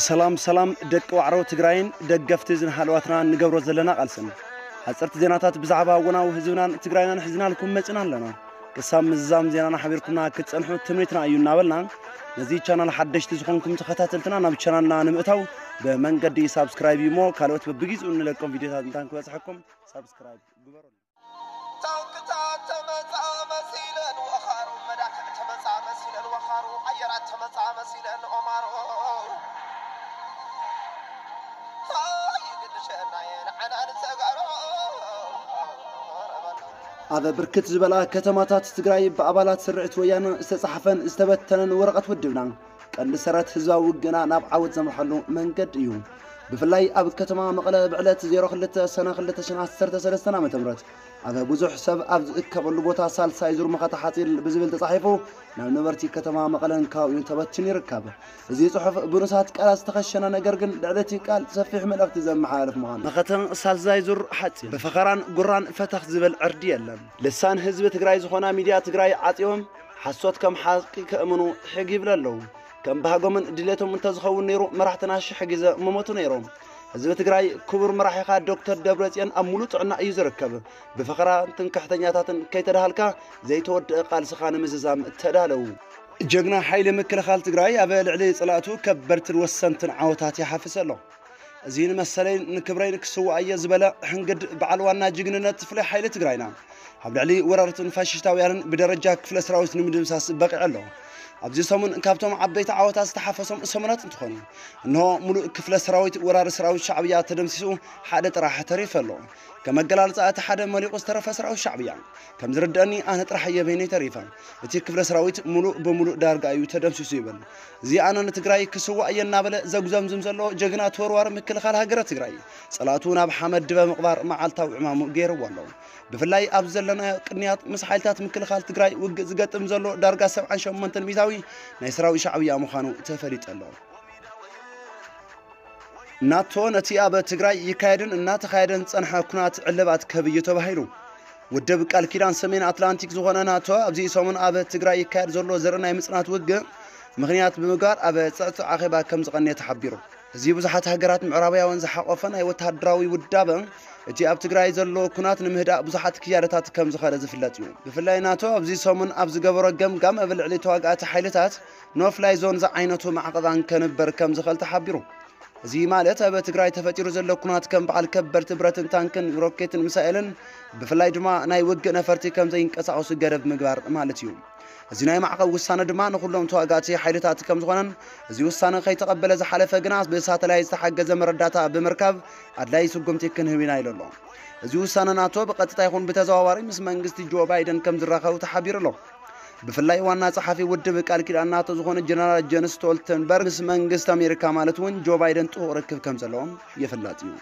ሰላም ሰላም ደቂ ዋዕሮ ትግራይን ደገፍቲ ዝንሃለዋትና እንገብሮ ዘለና ቃልስን ሓፀርቲ ዜናታት ብዛዕባ ወናዊ ህዝብናን ትግራይናን ሒዝናልኩም መፅና ኣለና። ክሳብ ምዝዛም ዜናና ሓቢርኩምና ክትፀንሑ ትምኒትና እዩ እናበልና፣ ነዚ ቻናል ሓደሽቲ ዝኾንኩም ተኸታተልትና ናብ ቻናልና ንምእታው ብመንገዲ ሳብስክራይብ እዩ እሞ ካልኦት በብጊዜኡ እንለቆም ቪዲዮታት እንታን ክበፅሐኩም ሳብስክራይብ ግበሩ። ታንክታት ተመጻ መሲለን ወኻሩ፣ መዳፍዕ ተመጻ መሲለን ወኻሩ፣ ኣየራት ተመጻ መሲለን ኦማሮ። ሃይ ግድሸናየን ዓናን ተጋሮ። ኣብ ብርክት ዝበላ ከተማታት ትግራይ ብኣባላት ስርዕት ወያነ ዝተጻሕፈን ዝተበተነን ወረቐት ውድብና ቀንዲ ሰረት ህዝባዊ ውግእና ናብ ዓወት ዘምርሓሉ መንገዲ እዩ። ብፍላይ ኣብ ከተማ መቐለ ብዕለት ዜሮ ክልተ ሰነ ክልተ ሽሕን ዓሰርተ ሰለስተን ዓመተ ምህረት ኣብ ብዙሕ ሰብ ኣብ ዝእከበሉ ቦታ ሳልሳይ ዙር መኸተ ሓፂር ብዝብል ተፃሒፉ ናብ ነበርቲ ከተማ መቐለን ከባቢኡን ተበቲኑ ይርከብ። እዚ ፅሑፍ ብንኡሳት ቃላት ዝተኸሸነ ነገር ግን ልዕሊ እቲ ቃል ሰፊሕ መልእኽቲ ዘመሓላልፍ ምዃኑ። መኸተ ሳልሳይ ዙር ሓፂር ብፈኸራን ጉራን ፈተኽ ዝበል ዕርዲ የለን። ልሳን ህዝቢ ትግራይ ዝኾና ሚድያ ትግራይ ዓፂዮም ሓሶት ከም ሓቂ ከእምኑ ሕግ ይብለ ኣለዉ። ከም ባህጎምን ድሌቶም እንተዝኸውን ነይሩ መራሕትና ሽሕ ግዜ ምሞቱ ነይሮም። ህዝቢ ትግራይ ክቡር መራሒኻ ዶክተር ደብረፅዮን ኣብ ሙሉእ ጥዕና እዩ ዝርከብ። ብፈኸራን ትምክሕተኛታትን ከይተዳሃልካ ዘይተወድአ ቃልስኻ ንምዝዛም ተዳለዉ። ጀግና ሓይሊ ምክልኻል ትግራይ ኣብ ልዕሊ ፀላእቱ ከበድትን ወሰንትን ዓወታት ይሓፍስ ኣሎ። እዚ ንመሰለይን ንክብረይን ክስዋእ እየ ዝበለ ሕንግድ በዓል ዋና ጅግንነት ፍሉይ ሓይሊ ትግራይና ኣብ ልዕሊ ወራርትን ፋሽስታውያንን ብደረጃ ክፍለ ሰራዊት ንምድምሳስ በቂዑ ኣሎ። ኣብዚ ሰሙን ካብቶም ዓበይቲ ዓወታት ዝተሓፈሶም ሰሙናት እንትኾኑ፣ እንሆ ሙሉእ ክፍለ ሰራዊት ወራሪ ሰራዊት ሻዕብያ ተደምሲሱ ሓደ ጥራሕ ተሪፉ ኣሎ። ከም ኣገላልፃ እቲ ሓደ መሊቑ ዝተረፈ ሰራዊት ሻዕብያ ከም ዝርደአኒ ኣነ ጥራሕ እየ በይነይ ተሪፈ። እቲ ክፍለ ሰራዊት ሙሉእ ብሙሉእ ዳርጋ እዩ ተደምሲሱ ይብል። እዚ ኣነ ንትግራይ ክስዋእ እየ እናበለ ዘጉዘምዝም ዘሎ ጀግና ተወርዋሪ ምክልኻል ሃገረ ትግራይ፣ ፀላእቱ ናብ ሓመድ ድበ ምቕባር መዓልታዊ ዕማሙ ገይርዎ ኣሎ። ብፍላይ ኣብ ዘለናዮ ቅንያት ምስ ሓይልታት ምክልኻል ትግራይ ውግእ ዝገጥም ዘሎ ዳርጋ ሰብዓን ሸሞንተን ሚእታዊ ናይ ሰራዊት ሻዕብያ ምዃኑ ተፈሊጡ ኣሎ። ናቶ ነቲ ኣብ ትግራይ ይካየድን እናተኻየደን ዝጸንሐ ኩናት ዕልባት ክህብ እዩ ተባሂሉ። ውድብ ቃል ኪዳን ሰሜን ኣትላንቲክ ዝኾነ ናቶ ኣብዚ ሰሙን ኣብ ትግራይ ይካየድ ዘሎ ዘርኢ ናይ ምጽናት ውግእ ምኽንያት ብምግባር ኣብ ጽዕጹዕ ኣኼባ ከም ዝቐንየ ተሓቢሩ። እዚ ብዙሓት ሃገራት ምዕራባውያን ዝሓቖፈ ናይ ወተሃደራዊ ውዳበ እቲ ኣብ ትግራይ ዘሎ ኩናት ንምህዳእ ብዙሓት ክያደታት ከም ዝኸደ ዝፍለጥ እዩ። ብፍላይ ናቶ ኣብዚ ሰሙን ኣብ ዝገበሮ ገምጋም ኣብ ልዕሊ ተዋጋእቲ ሓይልታት ኖ ፍላይ ዞን ዝዓይነቱ ማዕቐባን ከንበር ከም ዝኽእል ተሓቢሩ። እዚ ማለት ኣብ ትግራይ ተፈጢሩ ዘሎ ኩናት ከም በዓል ከበድቲ ብረትን ታንክን ሮኬትን ሚሳኤልን ብፍላይ ድማ ናይ ውግእ ነፈርቲ ከም ዘይንቀሳቐሱ ገደብ ምግባር ማለት እዩ። እዚ ናይ ማዕቐብ ውሳነ ድማ ንኹሎም ተዋጋእቲ ሓይልታት ከም ዝኾነን እዚ ውሳነ ከይተቐበለ ዝሓለፈ ግና ብሳተላይት ዝተሓገዘ መረዳእታ ብምርካብ ኣድላይ ስጉምቲ ክንህብ ኢና ኢሉ ኣሎ። እዚ ውሳነ ናቶ ብቐጥታ ይኹን ብተዘዋዋሪ ምስ መንግስቲ ጆ ባይደን ከም ዝራኸቡ ተሓቢሩ ኣሎ። ብፍላይ ዋና ጸሓፊ ውድብ ቃል ኪዳን ናቶ ዝኾነ ጀነራል ጀንስ ስቶልተንበርግ ምስ መንግስቲ ኣሜሪካ ማለት እውን ጆ ባይደን ጥቡቕ ርክብ ከም ዘለዎም ይፍለጥ እዩ።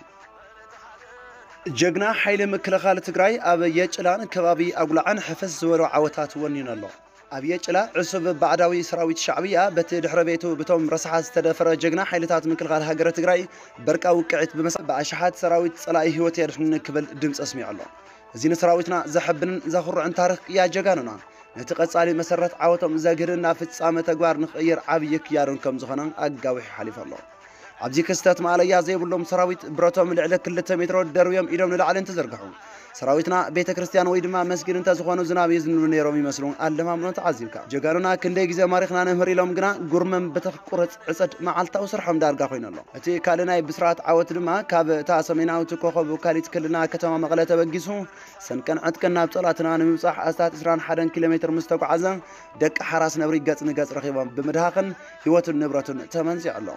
ጀግና ሓይሊ ምክልኻል ትግራይ ኣብ የጭላን ከባቢ ኣጉላዕን ሕፍስ ዝበሉ ዓወታት ወኒኑ ኣሎ። ኣብ የጭላ ዕሱብ ባዕዳዊ ሰራዊት ሻዕብያ በቲ ድሕረ ቤቱ ብቶም ረሳሓት ዝተደፈረ ጀግና ሓይልታት ምክልኻል ሃገረ ትግራይ በርቃ ውቅዒት ብምስዓብ ብኣሽሓት ሰራዊት ጸላኢ ህይወት የድሕንኒ ክብል ድምፂ ኣስሚዑ ኣሎ። እዚ ንሰራዊትና ዘሐብንን ዘኹርዕን ታሪኽ ቅያ ጀጋኑና ነቲ ቀጻሊ መሰረት ዓወቶም ዘግህድና ፍጻመ ተግባር ንኽቕይር ዓብዪ ክያዶን ከም ዝኾነ ኣጋዊሑ ሓሊፉ ኣሎ። ኣብዚ ክስተት ማእለያ ዘይብሎም ሰራዊት ብረቶም ልዕሊ ክልተ ሜትሮ ደርብዮም ኢዶም ንላዕሊ እንትዝርግሑ ሰራዊትና ቤተ ክርስቲያን ወይ ድማ መስጊድ እንተዝኾኑ ዝናብ የዝንሉ ነይሮም ይመስሉ ኣለማምኖ ተዓዚብካ። ጀጋኑና ክንደይ ግዜ ማሪኽና ነምህር ኢሎም ግና ጉርመም ብተኽ ቁረፅ ዕፀድ መዓልታዊ ስርሖም ዳርጋ ኮይኑ ኣሎ። እቲ ካልእ ናይ ብስራት ዓወት ድማ ካብ እታ ሰሜናዊት ኮኸብ ውካሊት ክልልና ከተማ መቐለ ተበጊሱ ሰንቀን ዕጥቅን ናብ ጸላእትና ንምብጻሕ ኣስታት ዕስራን ሓደን ኪሎ ሜትር ምስ ተጓዓዘ ደቂ ሓራስ ነብሪ ገጽ ንገጽ ረኺቦም ብምድሃኽን ህይወቱን ንብረቱን ተመንዚዑ ኣሎ።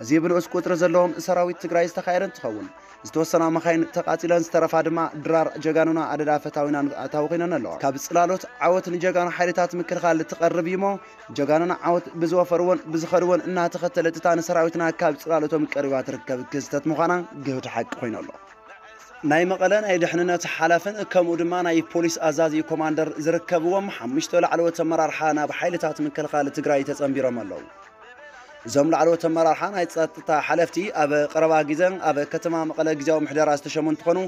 እዚ ብንኡስ ቁጽሪ ዘለዎም ሰራዊት ትግራይ ዝተኻየደ እንትኸውን ዝተወሰና መኻይን ተቓጺለን ዝተረፋ ድማ ድራር ጀጋኑና ኣደዳ ፈታዊና ኣታዊ ኮይነን ኣለዋ። ካብ ጽላሎት ዓወት ንጀጋኑ ሓይልታት ምክልኻል ትቐርብ እዩ እሞ ጀጋኑና ዓወት ብዝወፈርዎን ብዝኸድዎን እናተኸተለት እታ ንሰራዊትና ካብ ጽላሎቶም ቀሪባ ትርከብ ክስተት ምዃና ግህድ ሓቂ ኮይኑ ኣሎ። ናይ መቐለ ናይ ድሕንነት ሓላፍን ከምኡ ድማ ናይ ፖሊስ ኣዛዚ ኮማንደር ዝርከብዎም ሓሙሽተ ላዕለዎት ኣመራርሓ ናብ ሓይልታት ምክልኻል ትግራይ ተጸንቢሮም ኣለዉ። እዞም ላዕለዎት ኣመራርሓ ናይ ጸጥታ ሓለፍቲ ኣብ ቀረባ ግዜ ኣብ ከተማ መቐለ ግዜያዊ ምሕደራ ዝተሸሙ እንትኾኑ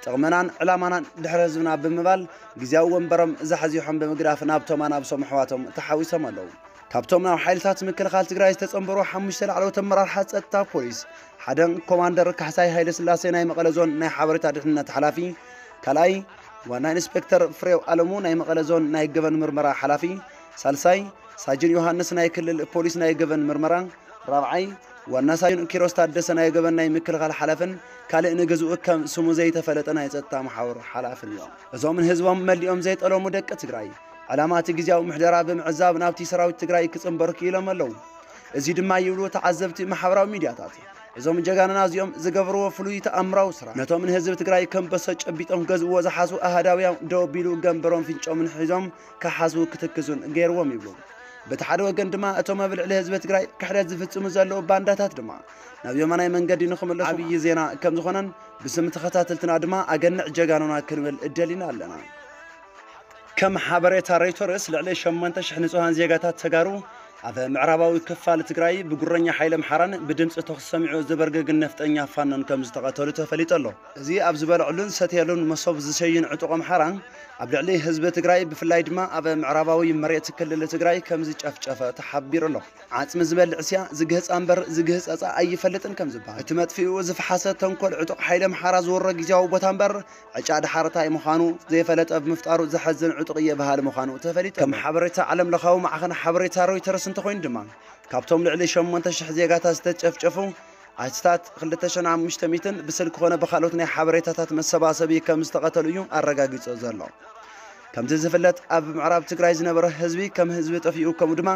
ጥቕምናን ዕላማናን ድሕሪ ህዝብና ብምባል ግዜያዊ ወንበሮም ዛሕዚሖም ብምግዳፍ ናብቶም ኣናብሶም ኣሕዋቶም ተሓዊሶም ኣለዉ። ካብቶም ናብ ሓይልታት ምክልኻል ትግራይ ዝተጸንበሩ ሓሙሽተ ላዕለዎት ኣመራርሓ ጸጥታ ፖሊስ፣ ሓደ ኮማንደር ካሕሳይ ሃይለ ስላሴ ናይ መቐለ ዞን ናይ ሓበሬታ ድሕንነት ሓላፊ፣ ካልኣይ ዋና ኢንስፔክተር ፍሬው ኣለሙ ናይ መቐለ ዞን ናይ ገበን ምርመራ ሓላፊ፣ ሳልሳይ ሳጅን ዮሃንስ ናይ ክልል ፖሊስ ናይ ገበን ምርመራ፣ ራብዓይ ዋና ሳጅን ኪሮስ ታደሰ ናይ ገበን ናይ ምክልኻል ሓላፍን ካልእ ንግዝኡ ከም ስሙ ዘይተፈለጠ ናይ ጸጥታ መሓውር ሓላፍን እዮም። እዞም ንህዝቦም መሊኦም ዘይጠለሙ ደቂ ትግራይ፣ ዕላማ እቲ ግዝያዊ ምሕደራ ብምዕዛብ ናብቲ ሰራዊት ትግራይ ክጽንበሩ ክኢሎም ኣለዉ። እዚ ድማ ይብሉ ተዓዘብቲ ማሕበራዊ ሚድያታት። እዞም ጀጋንና እዚኦም ዝገበርዎ ፍሉይ ተኣምራዊ ስራሕ፣ ነቶም ንህዝቢ ትግራይ ከም በሶ ጨቢጦም ክገዝእዎ ዝሓስቡ ኣሃዳውያን ደው ኣቢሉ ገንበሮም ፍንጮምን ሒዞም ክሓስቡ ክትክዙን ገይርዎም ይብሉ። በቲ ሓደ ወገን ድማ እቶም ኣብ ልዕሊ ህዝቢ ትግራይ ክሕደት ዝፍጽሙ ዘለዉ ባንዳታት ድማ ናብ የማናይ መንገዲ ንኽምለሱ ዓብዪ ዜና ከም ዝኾነን ብስም ተኸታተልትና ድማ ኣገንዕ ጀጋኑና ክንብል እደሊና ኣለና። ከም ሓበሬታ ሮይተርስ፣ ልዕሊ ሸሞንተ ሽሕ ንጹሃን ዜጋታት ተጋሩ ኣብ ምዕራባዊ ክፋል ትግራይ ብጉረኛ ሓይሊ ኣምሓራን ብድምፂ ተኹሲ ሰሚዑ ዝበርገግን ነፍጠኛ ፋኖን ከም ዝተቐተሉ ተፈሊጡ ኣሎ። እዚ ኣብ ዝበልዕሉን ሰትየሉን መሶብ ዝሸይን ዕጡቕ ኣምሓራ ኣብ ልዕሊ ህዝቢ ትግራይ፣ ብፍላይ ድማ ኣብ ምዕራባዊ መሬት ክልል ትግራይ ከም ዝጨፍጨፈ ተሓቢሩ ኣሎ። ዓጽሚ ዝበልዕ እስያ ዝግህጻ እምበር ዝግህጸጻ ኣይፈልጥን ከም ዝበሃል፣ እቲ መጥፊኡ ዝፈሓሰ ተንኮል ዕጡቕ ሓይሊ ኣምሓራ ዝወሮ ግዝያዊ ቦታ እምበር ዕጫ ድሓርታይ ምዃኑ ዘይፈለጠ ብምፍጣሩ ዘሐዝን ዕጡቕ እየ በሃሊ ምዃኑ ተፈሊጡ። ከም ሓበሬታ ዓለም ለኻዊ ማዕኸን ሓበሬታ ሮይተርስ እንተኾይኑ ድማ፣ ካብቶም ልዕሊ ሸሞንተ ሽሕ ዜጋታት ዝተጨፍጨፉ፣ ኣስታት ክልተ ሽሕን ኣምስተ ሚእትን ብስልኪ ኮነ ብኻልኦት ናይ ሓበሬታታት መሰባሰቢ ከም ዝተቐተሉ እዩ ኣረጋጊጹ ዘሎ። ከምቲ ዝፍለጥ፣ ኣብ ምዕራብ ትግራይ ዝነበረ ህዝቢ ከም ህዝቢ ጠፊኡ፣ ከምኡ ድማ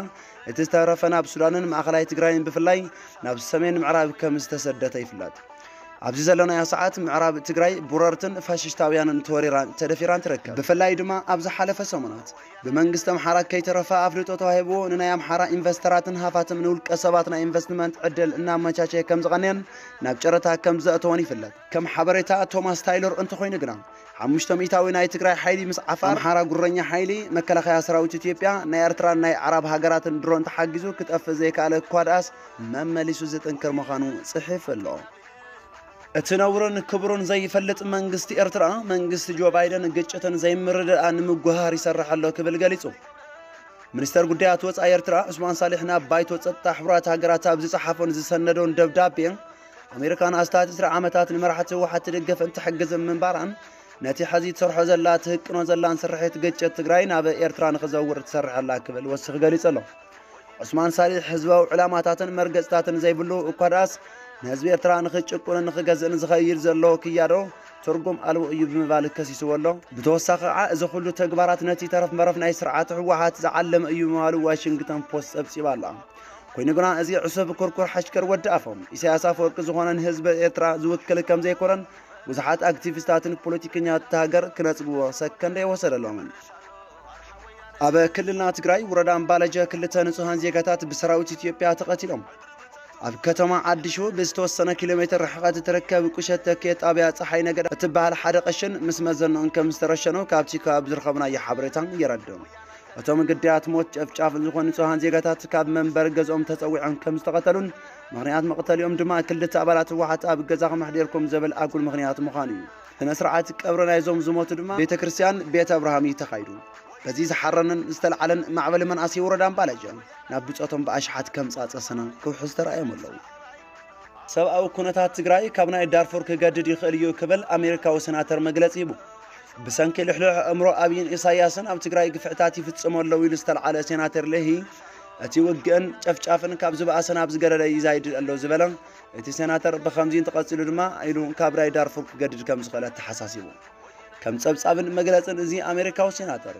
እቲ ዝተረፈ ናብ ሱዳንን ማእኸላይ ትግራይን ብፍላይ ናብ ሰሜን ምዕራብ ከም ዝተሰደተ ይፍለጥ። ኣብዚ ዘለናዮ ሰዓት ምዕራብ ትግራይ ብወረርትን ፋሽስታውያንን ተወሪራን ተደፊራን ትርከብ። ብፍላይ ድማ ኣብ ዝሓለፈ ሰሙናት ብመንግስቲ ኣምሓራ ከይተረፈ ኣፍልጦ ተዋሂብዎ ንናይ ኣምሓራ ኢንቨስተራትን ሃፋትም ንውልቀ ሰባት ናይ ኢንቨስትመንት ዕድል እናመቻቸየ ከም ዝቐነየን ናብ ጨረታ ከም ዘእተወን ይፍለጥ። ከም ሓበሬታ ቶማስ ታይለር እንተኾይኑ ግና፣ ሓሙሽተ ሚእታዊ ናይ ትግራይ ሓይሊ ምስ ዓፋር፣ ኣምሓራ ጉረኛ ሓይሊ፣ መከላኸያ ሰራዊት ኢትዮጵያ፣ ናይ ኤርትራን ናይ ኣዕራብ ሃገራትን ድሮን ተሓጊዙ ክጠፍእ ዘይከኣለ እኳ ደኣስ መመሊሱ ዝጥንክር ምዃኑ ጽሒፉ ኣሎ። እቲ ነውርን ክብሩን ዘይፈልጥ መንግስቲ ኤርትራ፣ መንግስቲ ጆ ባይደን ግጭትን ዘይምርድኣ ንምጉሃር ይሰርሕ ኣሎ ክብል ገሊጹ። ሚኒስተር ጉዳያት ወጻኢ ኤርትራ ዑስማን ሳልሕ ናብ ባይቶ ጸጥታ ሕቡራት ሃገራት ኣብ ዝጸሓፎን ዝሰነዶን ደብዳቤ፣ ኣሜሪካ ንኣስታት ዕስራ ዓመታት ንመራሕቲ ህወሓት ትድግፍን ትሕግዝን ምንባራን፣ ነቲ ሕዚ ትሰርሖ ዘላ ትህቅኖ ዘላን ስርሒት ግጭት ትግራይ ናብ ኤርትራ ንኽዘውር ትሰርሕ ኣላ ክብል ወሲኹ ገሊጹ ኣሎ። ዑስማን ሳልሕ ህዝባዊ ዕላማታትን መርገጽታትን ዘይብሉ እኳ ደኣስ፣ ንህዝቢ ኤርትራ ንኽጭቁንን ንኽገዝእን ዝኸይድ ዘሎ ክያዶ ትርጉም ኣልቦ እዩ ብምባል ከሲስዎ ኣሎ። ብተወሳኺ ከዓ እዚ ኩሉ ተግባራት ነቲ ተረፍ መረፍ ናይ ስርዓት ህወሓት ዝዓለመ እዩ ምባሉ ዋሽንግተን ፖስት ጸብጺባ ኣላ። ኮይኑ ግና እዚ ዕሱብ ኩርኩር ሓሽከር ወዲ ኣፎም ኢሳያስ ኣፈወርቂ ዝኾነ ንህዝቢ ኤርትራ ዝውክል ከም ዘይኮነን ብዙሓት ኣክቲቪስታትን ፖለቲከኛታት እታ ሃገር ክነጽግዎ ሰከንድ ኣይወሰደሎምን። ኣብ ክልልና ትግራይ ወረዳ ኣምባለጀ ክልተ ንጹሃን ዜጋታት ብሰራዊት ኢትዮጵያ ተቐቲሎም። ኣብ ከተማ ዓዲሹ ብዝተወሰነ ኪሎ ሜትር ርሕቐት እትርከብ ቁሸት ተኪየ ጣብያ ፀሓይ ነገዳ እትበሃል ሓደ ቀሽን ምስ መዘንኦን ከም ዝተረሸኑ ካብቲ ከባቢ ዝረኸብናዮ ሓበሬታ የረድእ። እቶም ግዳያት ሞት ጨፍጫፍን ዝኾኑ ንጹሃን ዜጋታት ካብ መንበሪ ገዝኦም ተጸዊዖም ከም ዝተቐተሉን ምኽንያት መቕተሊኦም ድማ ክልተ ኣባላት ህወሓት ኣብ ገዛኹም ኣሕዲርኩም ዘብል ኣጉል ምኽንያት ምዃኑ እዩ። ስነ ስርዓት ቀብሪ ናይዞም ዝሞቱ ድማ ቤተ ክርስቲያን ቤት ኣብርሃም እዩ ተኻይዱ። በዚ ዝሓረንን ዝተልዓለን ማዕበል መናእሰይ ወረዳ ኣምባለጀ ናብ ብጾቶም ብኣሽሓት ከም ጻጸ ሰና ክውሕዝ ተራእዮም ኣለዉ። ሰብኣዊ ኩነታት ትግራይ ካብ ናይ ዳርፉር ክገድድ ይኽእል እዩ ክብል ኣሜሪካዊ ሴናተር መግለጺ ሂቡ። ብሰንኪ ልሕሉሕ ኣእምሮ ኣብይን ኢሳያስን ኣብ ትግራይ ግፍዕታት ይፍጽሙ ኣለዉ ኢሉ ዝተልዓለ ሴናተር ሌሂ፣ እቲ ውግእን ጨፍጫፍን ካብ ዝበኣሰ ናብ ዝገደደ ይዛይድ ኣሎ ዝበለ እቲ ሴናተር፣ ብኸምዚ እንተቐጺሉ ድማ ኢሉ ካብ ናይ ዳርፉር ክገድድ ከም ዝኽእል ኣተሓሳሲቡ። ከም ጸብጻብን መግለጽን እዚ ኣሜሪካዊ ሴናተር፣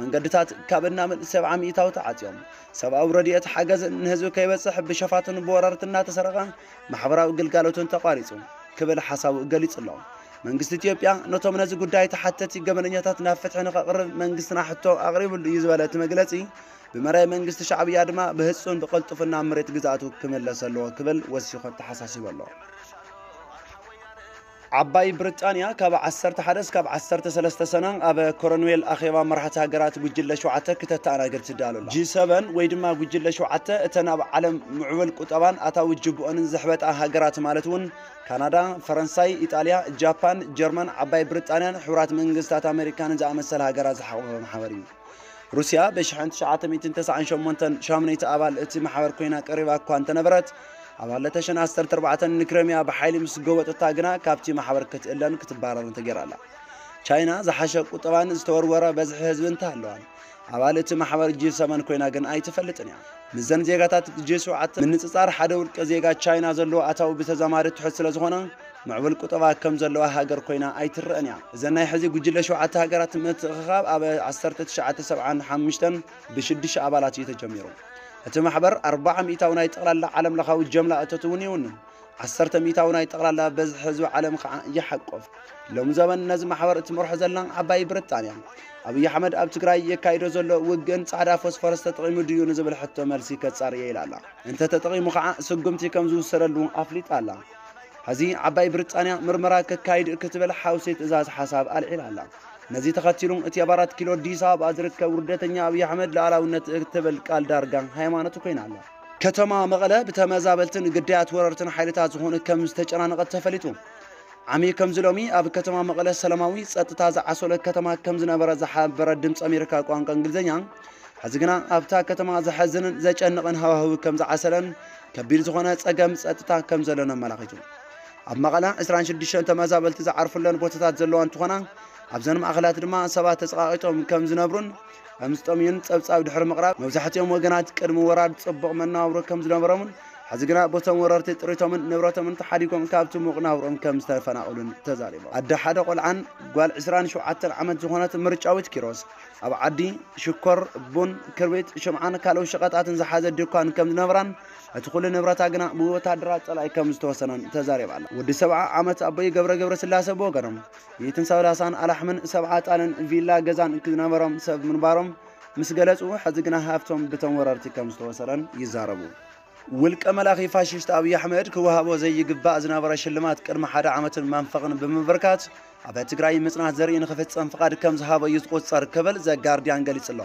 መንገድታት ካብ እናምን ሰብዓ ሚእታዊ ተዓጽዮም፣ ሰብኣዊ ረድኤት ሓገዝን ንህዝቢ ከይበጽሕ ብሸፋቱን ብወረርቲ እናተሰረቐ ማሕበራዊ ግልጋሎትን ተቋሪጹ ክብል ሓሳቡ ገሊጹ ኣሎ። መንግስቲ ኢትዮጵያ ነቶም ነዚ ጉዳይ ተሓተቲ ገበነኛታት ናብ ፍትሒ ንኸቕርብ መንግስትና ሕቶ ኣቕሪቡሉ እዩ ዝበለ እቲ መግለጺ፣ ብመራሒ መንግስቲ ሻዕብያ ድማ ብህጹን ብቐልጡፍን ናብ መሬት ግዝኣቱ ክምለስ ኣለዎ ክብል ወሲኹ ኣተሓሳሲቡ ኣሎ። ዓባይ ብሪጣንያ ካብ ዓሰርተ ሓደ እስካብ ዓሰርተ ሰለስተ ሰነ ኣብ ኮረንዌል ኣኼባ መራሕቲ ሃገራት ጉጅለ ሸውዓተ ክተተኣናግድ ትዳሎ ኣላ። ጂ ሰቨን ወይ ድማ ጉጅለ ሸውዓተ እተን ኣብ ዓለም ምዕቡል ቁጠባን ኣታዊ ጅብኦንን ዘሕበጣ ሃገራት ማለት እውን ካናዳ፣ ፈረንሳይ፣ ኢጣልያ፣ ጃፓን፣ ጀርመን፣ ዓባይ ብሪጣንያን ሕቡራት መንግስታት ኣሜሪካን ዝኣመሰላ ሃገራት ዝሓቖፈ ማሕበር እዩ። ሩስያ ብ ትሽዓተ ሚእትን ተስዓን ሸሞንተን ሻሙነይቲ ኣባል እቲ ማሕበር ኮይና ቀሪባ እኳ እንተነበረት፣ ኣብ ክልተ ሽሕን ዓሰርተ ኣርባዕተን ንክረምያ ብሓይሊ ምስ ጎበጠታ ግና ካብቲ ማሕበር ክትእለን ክትባረርን ተገይራ ኣላ። ቻይና ዝሓሸ ቁጠባን ዝተወርወረ በዝሒ ህዝቢ እንተሃለዋን፣ ኣባል እቲ ማሕበር ጂ ሰበን ኮይና ግን ኣይትፈልጥን እያ። ምስዘን ዜጋታት ጂ ሸውዓተ ምንጽጻር፣ ሓደ ውልቀ ዜጋ ቻይና ዘለዎ ኣታዊ ብተዛማዲ ትሑት ስለ ዝኾነ፣ ምዕቡል ቁጠባ ከም ዘለዋ ሃገር ኮይና ኣይትረአን እያ። እዘን ናይ ሕዚ ጉጅለ ሸውዓተ ሃገራት ምትእኽኻብ ኣብ ዓሰርተ ትሽዓተ ሰብዓን ሓሙሽተን ብሽዱሽተ ኣባላት እዩ ተጀሚሩ። እቲ ማሕበር ኣርባዓ ሚእታዊ ናይ ጠቕላላ ዓለም ለኻዊ ጀምላ እቶት እውን ይውንን። ዓሰርተ ሚእታዊ ናይ ጠቕላላ በዝሒ ህዝቢ ዓለም ከዓ ይሓቆፍ። ሎሚ ዘበን ነዚ ማሕበር እትመርሖ ዘላ ዓባይ ብሪጣንያ፣ ኣብይ ኣሕመድ ኣብ ትግራይ የካይዶ ዘሎ ውግእን ጻዕዳ ፎስፈረስ ተጠቒሙ ድዩ ንዝብል ሕቶ መልሲ ከጻሪ እየ ኢላ ኣላ። እንተ ተጠቒሙ ከዓ ስጉምቲ ከም ዝውሰደሉ ኣፍሊጣ ኣላ። ሕዚ ዓባይ ብሪጣንያ ምርመራ ከካይድ ክትብል ሓውሲ ትእዛዝ ሓሳብ ኣልዒላ ኣላ። ነዚ ተኸቲሉ እቲ ኣብ ኣራት ኪሎ ኣዲስ ኣበባ ዝርከብ ውርደተኛ ኣብይ ኣሕመድ ልኣላውነት እትብል ቃል ዳርጋ ሃይማኖቱ ኮይና ኣላ። ከተማ መቐለ ብተመዛበልትን ግዳያት ወረርትን ሓይልታት ዝኾኑ ከም ዝተጨናነቐት ተፈሊጡ። ዓሚ ከምዚ ሎሚ ኣብ ከተማ መቐለ ሰላማዊ ጸጥታ ዝዓሰሎ ከተማ ከም ዝነበረ ዝሓበረ ድምፂ ኣሜሪካ ቋንቋ እንግሊዝኛ፣ ሕዚ ግና ኣብታ ከተማ ዘሐዝንን ዘጨንቕን ሃዋህው ከም ዝዓሰለን ከቢድ ዝኾነ ጸገም ጸጥታ ከም ዘሎን ኣመላኺቱ። ኣብ መቐለ ዕስራን ሽዱሽተን ተመዛበልቲ ዝዓርፉለን ቦታታት ዘለዋ እንትኾና፣ ኣብዘን ማእኸላት ድማ ሰባት ተጸቓቒጦም ከም ዝነብሩን ከም ዝጠምዩን ጸብጻብ ድሕሪ ምቕራብ፣ መብዛሕትኦም ወገናት ቅድሚ ወራር ጽቡቕ መነባብሮ ከም ዝነበሮምን ሕዚ ግና በቶም ወረርቲ ጥሪቶምን ንብረቶምን ተሓዲጎም ካብቲ ሙቕ ናብርኦም ከም ዝተፈናቐሉን ተዛሪቦም። ኣደ ሓደ ቆልዓን ጓል ዕስራን ሸውዓተን ዓመት ዝኾነት ምርጫዊት ኪሮስ ኣብ ዓዲ ሽኮር፣ ቡን፣ ክርቢት፣ ሽምዓን ካልኦት ሸቐጣትን ዝሓዘ ድኳን ከም ዝነበራን እቲ ኩሉ ንብረታ ግና ብወታደራት ጸላኢ ከም ዝተወሰነን ተዛሪባ ኣላ። ወዲ ሰብዓ ዓመት ኣቦይ ገብረ ገብረስላሴ ብወገኖም፣ ሚእትን ሰላሳን ኣላሕምን ሰብዓ ጣልን ቪላ ገዛን ዝነበሮም ሰብ ምንባሮም ምስ ገለጹ፣ ሕዚ ግና ሃብቶም ብቶም ወረርቲ ከም ዝተወሰደን ይዛረቡ። ውልቀ መላኺ ፋሽስት ኣብይ ኣሕመድ ክወሃቦ ዘይግባእ ዝነበረ ሽልማት ቅድሚ ሓደ ዓመትን መንፈቕን ብምብርካት፣ ኣብ ትግራይ ምጽናት ዘርኢ ንኽፍጸም ፍቓድ ከም ዝሃቦ እዩ ዝቑጸር ክብል ዘጋርዲያን ገሊጹ ኣሎ።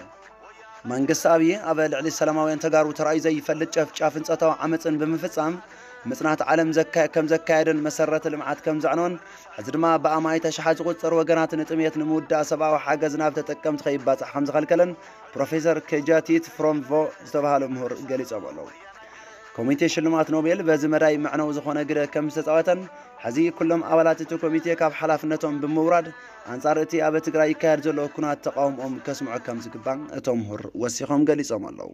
መንግስቲ ኣብይ ኣብ ልዕሊ ሰላማውያን ተጋሩ ተራእዩ ዘይፈልጥ ጨፍጫፍን ጾታዊ ዓመፅን ብምፍጻም ምጽናት ዓለም ዘካ-፣ ከም ዘካየደን መሰረተ ልምዓት ከም ዘዕነወን፣ ሕዚ ድማ ብኣማኢት ኣሽሓት ዝቑጸሩ ወገናት ንጥሜት ንምውዳእ ሰብኣዊ ሓገዝ ናብ ተጠቀምቲ ከይባጻሕ ከም ዝኸልከለን ፕሮፌሰር ኬጃቲት ፍሮምቮ ዝተባህሉ ምሁር ገሊጾም ኣለዉ። ኮሚቴ ሽልማት ኖቤል በዚ መዳይ መዕነዊ ዝኾነ ግደ ከም ዝተጻወተን፣ ሕዚ ኩሎም ኣባላት እቲ ኮሚቴ ካብ ሓላፍነቶም ብምውራድ ኣንጻር እቲ ኣብ ትግራይ ይካየድ ዘሎ ኩናት ተቃውሞኦም ከስምዑ ከም ዝግባእ እቶም ምሁር ወሲኾም ገሊጾም ኣለዉ።